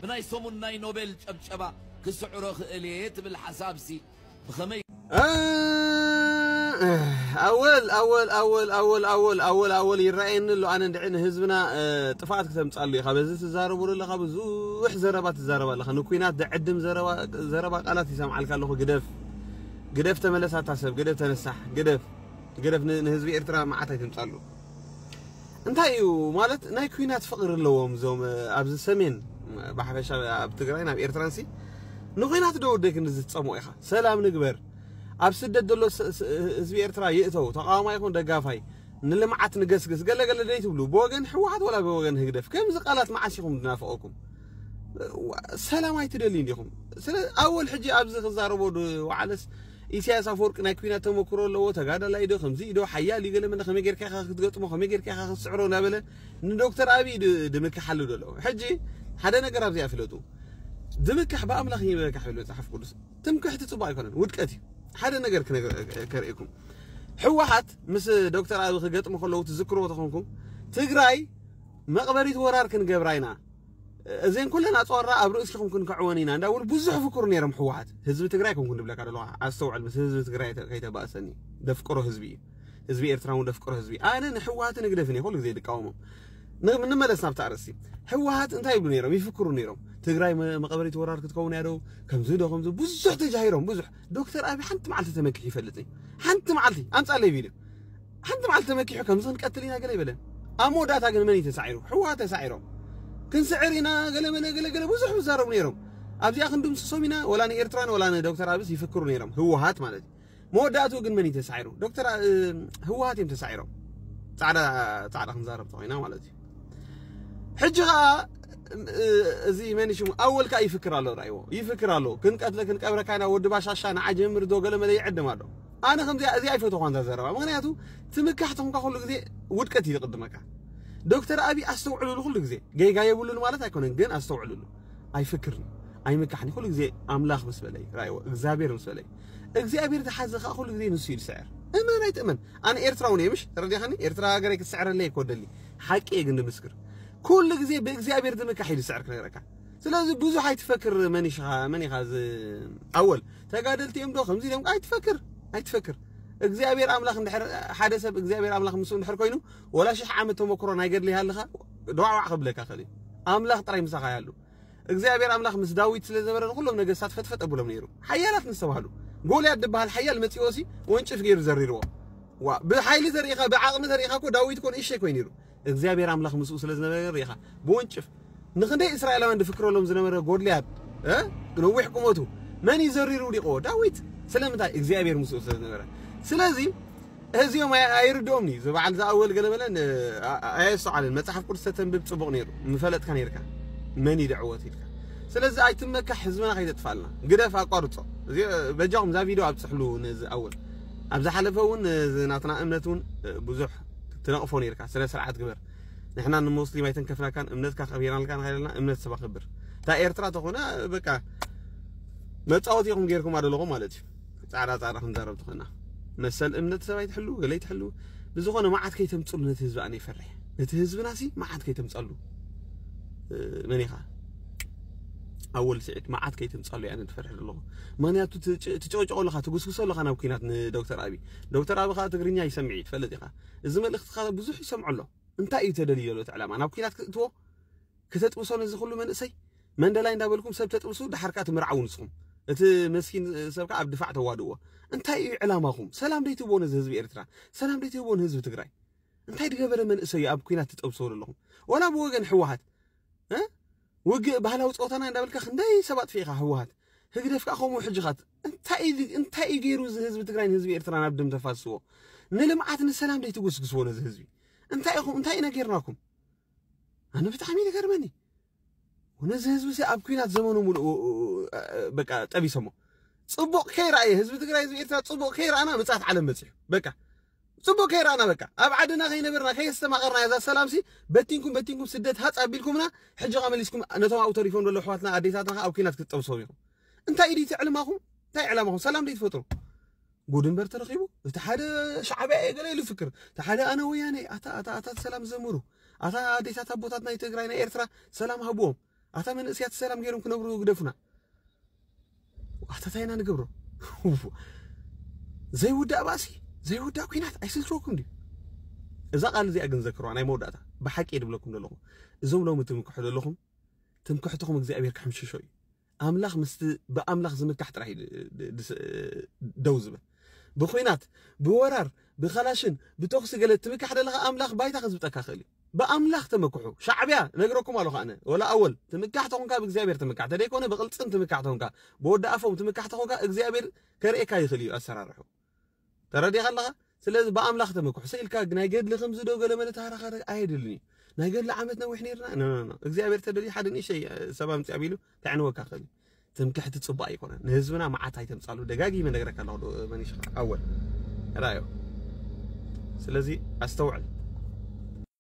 ብናይ ሰሙን ናይ ኖቤል ጨብጨባ ክስዕሮ ክእል እየ ትብል ሓሳብሲ ብኸመይ? ኣወል ኣወል ኣወል ኣወል ኣወል ኣወል ኣወል ይረኣየኒ ኣሎ። ኣነ እንድዒ ንህዝብና ጥፍኣት ክተምፃሉ ኢኻ። በዚ ትዛረቡ ኣለኻ፣ ብዙሕ ዘረባ ትዛረብ ኣለኻ። ንኩናት ዘዕድም ዘረባ ቃላት ይሰምዓልካ ኣለኹ። ግደፍ ግደፍ፣ ተመለሳታ ሰብ ግደፍ፣ ተነሳሕ ግደፍ ግደፍ። ንህዝቢ ኤርትራ መዓት ኣይትምፃሉ። እንታይ እዩ ማለት ናይ ኩናት ፍቕሪ ኣለዎም እዞም ኣብዚ ሰሜን ብሓፈሻ ኣብ ትግራይ ናብ ኤርትራንሲ ንኩናት ዶ ወደይ ክንዲ ዝፀምኦ ኢኻ። ሰላም ንግበር። ኣብ ስደት ዘሎ ህዝቢ ኤርትራ ይእተው፣ ተቃዋማይ ይኹን ደጋፋይ ንልምዓት ንገስግስ ገለገለ ደይ ትብሉ ብወገን ህወሓት ወላ ብወገን ህግደፍ ከምዚ ቃላት መዓስ ኢኹም ዝናፍቐኩም? ሰላም ኣይትደልዩ እንዲኹም። ስለ ኣወል ሕጂ ኣብዚ ክዛረቦ ወዓለስ ኢሳያስ ኣፈወርቂ ናይ ኩናት ተመክሮ ኣለዎ፣ ተጋዳላይ ዶ ከምዚ ዶ ሓያል እዩ ገለ መለ ከመይ ጌርካ ኢኻ ክትገጥሞ ከመይ ጌርካ ኢኻ ክትስዕሮ እናበለ ንዶክተር ኣብይ ድምክሓሉ ዘሎ። ሕጂ ሓደ ነገር ኣብዚኣ ፍለጡ። ድምክሕ ብኣምላኽ ይበካሕ ይብል መጽሓፍ ቅዱስ። ትምክሕቲ ጽቡቕ ኣይኮነን፣ ውድቀት እዩ። ሓደ ነገር ከርእየኩም። ህወሓት ምስ ዶክተር ኣብይ ክገጥሙ ከለዉ ትዝክርዎ ተኾንኩም ትግራይ መቕበሪት ወራር ክንገብራ ኢና፣ እዘን ኩለን ኣፅዋራ ኣብ ርእሲኹም ክንክዕወን ኢና እንዳበሉ ብዙሕ ፍክሩ ነይሮም። ህወሓት ህዝቢ ትግራይ ኮንኩ ንብለካ ደለኹ፣ ኣስተውዕል፣ ምስ ህዝቢ ትግራይ ከይተባእሰኒ። ደፍቅሮ ህዝቢ እዩ። ህዝቢ ኤርትራ እውን ደፍቅሮ ህዝቢ። ኣነ ንህወሓትን ህግደፍን እየ ኩሉ ግዜ ዝቃወሞም። ንመለስ ናብቲ ኣርእስቲ። ህወሓት እንታይ ይብሉ ነይሮም? ይፍክሩ ነይሮም። ትግራይ መቐበሪት ወራር ክትከውን ያደው ከምዚ ዶ ከምዚ ብዙሕ ተጃሂሮም ብዙሕ። ዶክተር ኣብይ ሓንቲ መዓልቲ ተመኪሑ ይፈልጥ እዩ? ሓንቲ መዓልቲ ኣምፃለይ ቪድዮ ሓንቲ መዓልቲ ተመኪሑ ከምዚ ክንቀትል ኢና ገለ ይበለን። ኣብ መወዳእታ ግን መን እዩ ተሳዒሩ? ህወሓት ተሳዒሮም። ክንስዕር ኢና ገለ መለ ገለ ገለ ብዙሕ ዝዛረቡ ነይሮም። ኣብዚኣ ክንድምስሶም ኢና ወላ ንኤርትራን ወላ ንዶክተር ኣብስ ይፍክሩ ነይሮም። ህወሓት ማለት እዩ። መወዳእትኡ ግን መን እዩ ተሳዒሩ? ዶክተር ህወሓት እዮም ተሳዒሮም። ፃዕዳ ፃዕዳ ክንዛረብ ተኮይና ማለት እዩ። ሕጂ ከዓ እዚ መን ሽሙ ኣወል ከዓ ይፍክር ኣሎ። ራይዎ ይፍክር ኣሎ። ክንቀትለ ክንቀብረካ ኢና ወዲ ባሻሻ ንዓ ጀምር ዶ ገለ መለ ይዕድም ኣሎ። ኣነ ከምዚ እዚ ኣይፈተኹ ኣንታ ዘረባ ምክንያቱ ትምካሕ ተኾንካ ኩሉ ግዜ ውድቀት እዩ ዝቅድመካ። ዶክተር ኣብይ ኣስተውዕሉሉ ኩሉ ግዜ ጌጋ የብሉን ማለት ኣይኮነን ግን ኣስተውዕሉሉ። ኣይፍክርን ኣይምካሕን ኩሉ ግዜ ኣምላኽ ምስ በለይ ራይዎ እግዚኣብሔር ምስ በለይ እግዚኣብሔር ዝሓዘ ከዓ ኩሉ ግዜ ንሱ እዩ ዝስዕር። እመን ኣይትእመን ኣነ ኤርትራውን እየ ምሽ ተረዲኻኒ ኤርትራ ሃገረይ ክትስዕረለይ እኮ ደሊ ሓቂ እየ ግን ንምስክር ኩሉ ግዜ ብእግዚኣብሔር ዝምካሕ እዩ ዝስዕር ክነግረካ። ስለዚ ብዙሕ ኣይትፈክር። መን ኢኻ መን ኢኻ እዚ ኣወል ተጋደልቲ እዮም ዶ ከምዚ ኢሎም ኣይትፈክር ኣይትፈክር። እግዚኣብሔር ኣምላኽ እንድሕር ሓደ ሰብ እግዚኣብሔር ኣምላኽ ምስኡ እንድሕር ኮይኑ ወላ ሽሕ ዓመት ተመክሮ ናይ ገድሊ ይሃልኻ ደዋዕዋዕ ከብለካ ኽእል እዩ። ኣምላኽ ጥራይ ምሳኻ ይሃሉ። እግዚኣብሔር ኣምላኽ ምስ ዳዊት ስለ ዝነበረ ንኩሎም ነገስታት ፈጥፈጥ ኣብሎም ነይሩ። ሓያላት ንዝተባህሉ ጎልያድ ዝበሃል ሓያል መፂዎ ሲ ወንጭፍ ገይሩ ዘሪርዎ። ዋ ብሓይሊ ተሪኢኻ ብዓቕሚ ተሪኢኻ እኮ ዳዊት እኮ ንእሸይ ኮይኑ ነይሩ። እግዚኣብሔር ኣምላኽ ምስኡ ስለ ዝነበረ ሪኢኻ ብወንጭፍ ንክንደይ እስራኤላውያን ድፍክረሎም ዝነበረ ጎድልያድ እ? ነዊሕ ቁመቱ መን እዩ ዘሪሩ ውዲቕዎ? ዳዊት። ስለምንታይ? እግዚኣብሔር ምስኡ ስለ ዝነበረ። ስለዚ እዚኦም ኣይ- ኣይርድኦም እዩ ዝበዓል ዝኣወል ገለ በለ ን- ኣ- ኣየስተውዓልን መፅሓፍ ቅዱስ ተተንብብ ፅቡቕ ነይሩ ምፈለጥካ ነይርካ መን ይድዕወት ኢልካ። ስለዚ ኣይትመካሕ ህዝብና ከይተጥፋልና ግደፍ ኣቋርፆ። እዚ በጃኹም እዛ ቪድዮ ኣብፅሕሉ ነዚ ኣወል ኣብ ዝሓለፈ እውን እዚ ናትና እምነት እውን ብዙሕ ትነቕፎ ነይርካ ስነ ስርዓት ግበር። ንሕና ንሙስሊም ኣይተንከፍናካን እምነትካ ከቢርናልካ ንኸይደልና እምነት ሰብ ኣኽብር። እታ ኤርትራ ተኾነ በቃ መፃወቲ ኢኹም ጌርኩም ኣለኹም ማለት እዩ። ፃዕዳ ፃዕዳ ክንዛረብ ተኾና መሰል እምነት ሰብ ኣይትሕሉ ገለ ኣይትሕሉ። ብዝኾነ መዓት ከይተምፅሉ ነቲ ህዝቢ ኣነ ይፈርሕ። ነቲ ህዝብና ሲ መዓት ከይተምፀሉ መን ኢኻ ኣወል ስዒድ መዓት ከይተምፀሉ ኣነ ትፈርሕ ዘለኹ። ምክንያቱ ትጨቅጨቆ ኣለኻ ትጉስጉሶ ኣለኻ ናብ ኩናት ንዶክተር ኣብይ። ዶክተር ኣብይ ከዓ ትግርኛ ይሰምዕ እዩ ትፈልጥ ኢኻ። እዚ መልእክትኻ ብዙሕ ይሰምዖ ኣሎ። እንታይ እዩ ተደልዩ ዘሎ እቲ ዕላማ ናብ ኩናት ክትእትዎ? ክተጥብሶ ነዚ ኩሉ መንእሰይ መንደላይ እንዳበልኩም ሰብ ተጥብሱ ድሓር ከዓ ትምርዓው ንስኹም። እቲ መስኪን ሰብ ከዓ ኣብ ድፋዕ ተዋድእዎ። እንታይ እዩ ዕላማኹም? ሰላም ደይትህብዎ ነዚ ህዝቢ ኤርትራ? ሰላም ደይትህብዎ ንህዝቢ ትግራይ? እንታይ ድገበረ መንእሰይ ኣብ ኩናት ትጠብስዎ ዘለኹም? ዋላ ብወገን ህወሓት እ? ውግእ ባህላዊ ፀወታና እንዳበልካ ክንደይ ሰብ ኣጥፊእኻ ህወሓት ህግደፍ ከዓ ከምኡ ሕጂ ኻት እንታይ እዩ- እንታይ እዩ ገይሩ እዚ ህዝቢ ትግራይ ንህዝቢ ኤርትራ ናብ ደም ተፋስዎ? ንልምዓት ንሰላም ደይትጉስግስዎ ነዚ ህዝቢ? እንታይ ኢኹም እንታይ ኢና ገይርናኩም? ኣነ ብጣዕሚ እዩ ዝገርመኒ። ነዚ ህዝቢ ሲ ኣብ ኩናት ዘመኑ ሙሉእ በቃ ጠቢሶሞ። ፅቡቕ ከይረኣየ ህዝቢ ትግራይ ህዝቢ ኤርትራ ፅቡቕ ከይረኣና ምፅኣት ዓለም በፂሑ በቃ ፅቡቕ ከይረኣና በቃ ኣብ ዓድና ከይነበርና ከየስተማቐርና እዛ ሰላም ሲ በቲንኩም በቲንኩም ስደት ሃፅ ኣቢልኩምና። ሕጂ ኸ መሊስኩም ነቶም ኣብኡ ተሪፎም ዘሎ ኣሕዋትና ኣዴታትና ኸ ኣብ ኩናት ክትጠብሶም ኢኹም። እንታይ እዩ ድዩ እቲ ዕልማኹም? እንታይ ዕላማኹም ሰላም ደይ ትፈጥሩ? ጉድ እምበር ተረኺቡ እቲ ሓደ ሻዕብያ እየ ገለ ኢሉ ይፍክር እቲ ሓደ ኣነ ወያነ። ኣታ ኣታ ኣታ ሰላም ዘምሩ ኣታ ኣዴታት ኣቦታት ናይ ትግራይ ናይ ኤርትራ ሰላም ሃብዎም። ኣታ መንእስያት ሰላም ገይሮም ክነብሩ ግደፉና። ኣታ እንታይ ኢና ንገብሮ? ዘይውዳእ ባእሲ፣ ዘይውዳእ ኲናት ኣይስልችወኩም ድዩ? እዛ ቃል እዚኣ ግን ዘክርዋ፣ ናይ መወዳእታ ብሓቂ እየ ድብለኩም ዘለኹ። እዞም ሎሚ ትምክሑ ዘለኹም ትምክሕትኹም እግዚኣብሔር ክሕምሽሾ እዩ። ኣምላኽ ምስቲ ብኣምላኽ ዝምካሕ ጥራሕ እዩ ድ- ድ- ድስ- ደው ዝብል። ብኹናት፣ ብወራር፣ ብኸላሽን ብተኹሲ ገለ ትምካሕ ዘለኻ ኣምላኽ ባይታ ክዝብጠካ ክእል እዩ። ብኣምላኽ ተመክሑ። ሻዕብያ ነግረኩም ኣለኹ ኣነ ወላ ኣወል ትምካሕ ተኾንካ ብእግዚኣብሔር ትምካሕ ተደይኮነ ብቕልፅም ትምካሕ ተኾንካ ብወዲ ኣፎም ትምካሕ ተኾንካ እግዚኣብሔር ከርእየካ ይኽእል እዩ ኣሰራርሑ። ተረዲኻ ኣለኻ? ስለዚ ብኣምላኽ ተመክሑ። ሰ ኢልካ ናይ ገድሊ ከምዚ ዶ ገለ መለ ታራኸረ ኣየድልን እዩ። ናይ ገድሊ ዓመት ነዊሕ ነይርና ኖ ኖ ኖ እግዚኣብሔር ተደልዩ ሓደ ንእሽተይ ሰብ ኣምፅእ ኣቢሉ ከዕንወካ ክእል እዩ። ትምክሕቲ ፅቡቅ ኣይኮነን። ንህዝብና መዓት ኣይተምፃሉ። ደጋጊመ ነግረካ ኣለኹ ዶ መኒሽ ኣወል ራዮ። ስለዚ ኣስተውዕል።